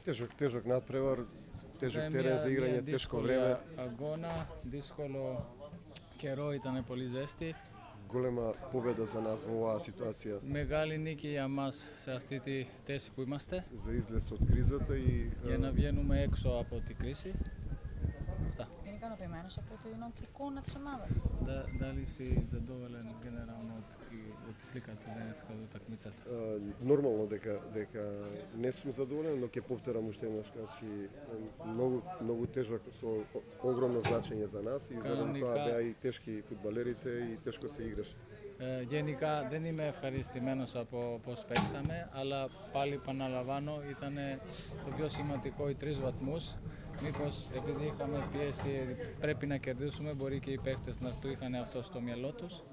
Тежок надпревар, тежок терен за играње, тешко време. Агона, дисколо керо итане поли зести. Голема победа за нас во оваа ситуација. Мегали ники ја мас се автити теси кои имасте. За излез од кризата и Ја навиенуме ексо апо ти криси. Είναι ικανοποιημένος από την εικόνα της ομάδας. Дали си задоволен генерално од сликата денеска од утакмицата? Нормално дека не сум задоволен, но ќе повторам уште еднаш, многу тежок со огромно значење за нас и заради тоа беа и тешки фудбалерите и тешко се играше. Γενικά δεν είμαι ευχαριστημένος από πώς παίξαμε, αλλά πάλι επαναλαμβάνω ήταν το πιο σημαντικό οι 3 βαθμούς. Μήπως επειδή είχαμε πίεση πρέπει να κερδίσουμε, μπορεί και οι παίχτες να το είχαν αυτό στο μυαλό τους.